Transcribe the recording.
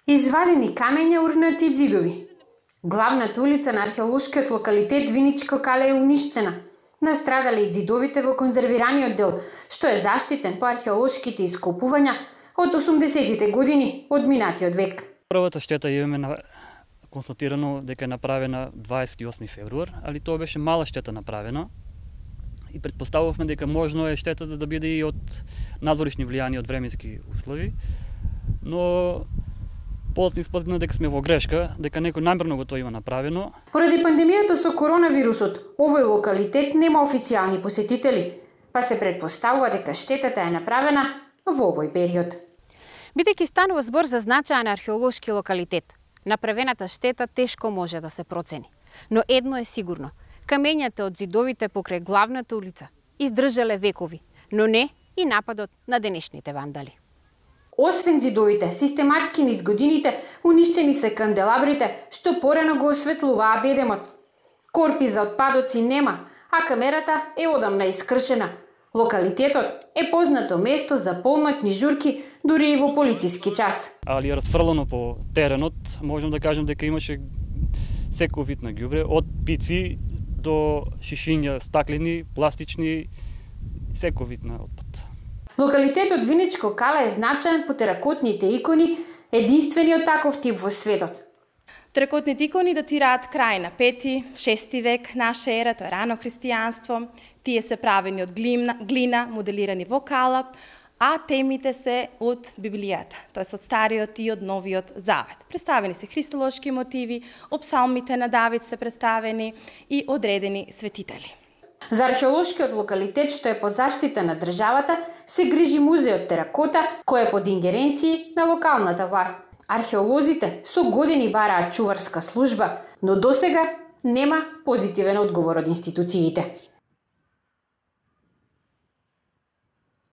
Извадени камења, урнати ѕидови. Главната улица на археолошкиот локалитет Виничко кале е уништена. Настрадале и ѕидовите во конзервираниот дел, што е заштитен по археолошките ископувања од 80-тите години од минатиот век. Првата штета имаме констатирано дека е направена 28 февруар, али тоа беше мала штета направена и предпоставувавме дека можно е штетата да биде и од надворишни влијани од временски услови, но после испадна дека сме во грешка, дека некој намерно го тоа има направено. Поради пандемијата со коронавирусот, овој локалитет нема официјални посетители, па се предпоставува дека штетата е направена во овој период. Бидејќи станува збор за значаен археолошки локалитет, направената штета тешко може да се процени. Но едно е сигурно, камењата од ѕидовите покрај главната улица издржале векови, но не и нападот на денешните вандали. Освен ѕидовите, систематски низ годините уништени се канделабрите, што порано го осветлуваа бедемот. Корпи за отпадоци нема, а камерата е одамна искршена. Локалитетот е познато место за полнотни журки, дури и во полициски час. Али расфрлано по теренот, можам да кажем дека имаше секој вид на ѓубре, од пици до шишиња, стаклени, пластични, секој вид на отпад. Локалитетот Виничко кале е значаен по теракотните икони, единствениот таков тип во светот. Теракотните икони датираат крај на 5-6 век наша ера, тоа е рано христијанство. Тие се правени од глина, моделирани во калап, а темите се од Библијата, тоа е од Стариот и од Новиот Завет. Представени се христолошки мотиви, од псалмите на Давид се представени и одредени светители. За археолошкиот локалитет, што е под заштита на државата, се грижи музеот Теракота, кој е под ингеренции на локалната власт. Археолозите со години бараат чуварска служба, но досега нема позитивен одговор од институциите.